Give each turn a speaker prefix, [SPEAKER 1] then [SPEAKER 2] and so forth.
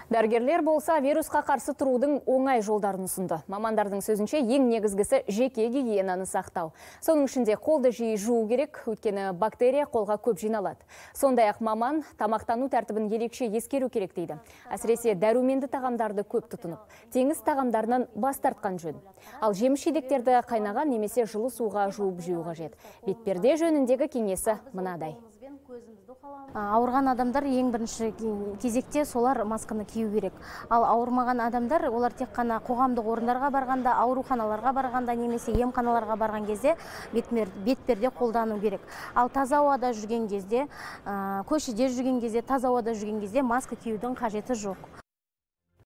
[SPEAKER 1] Дәрігерлер болса вирусқа қарсы тұрудың оңай жолдарын ұсынды. Мамандардың сөзінше ең негізгісі жеке гигиенаны сақтау. Соның ішінде қолды жиі жуу керек, өйткені бактерия қолға көп жиналады. Сондай-ақ маман тамақтану тәртібін ерекше ескеру керек дейді. Әсіресе дәруменді тағамдарды көп тұтынып, теңіз тағамдарынан бас тартқан жөн. Ал жеміс-жидектерді қайнаған немесе жылы суға жуып жеу қажет. Бетперде жөніндегі кеңесі мынадай.
[SPEAKER 2] Ауырған адамдар ең бірінші кезекте солар масканы кию керек. Ал ауырмаған адамдар, олар тек қана қоғамдық орындарға барғанда, ауруханаларға барғанда немесе емханаларға барған кезде бетперде қолдану керек. Ал таза ауада жүрген кезде, көшеде жүрген кезде, таза ауада жүрген кезде маска киюдің қажеті жоқ.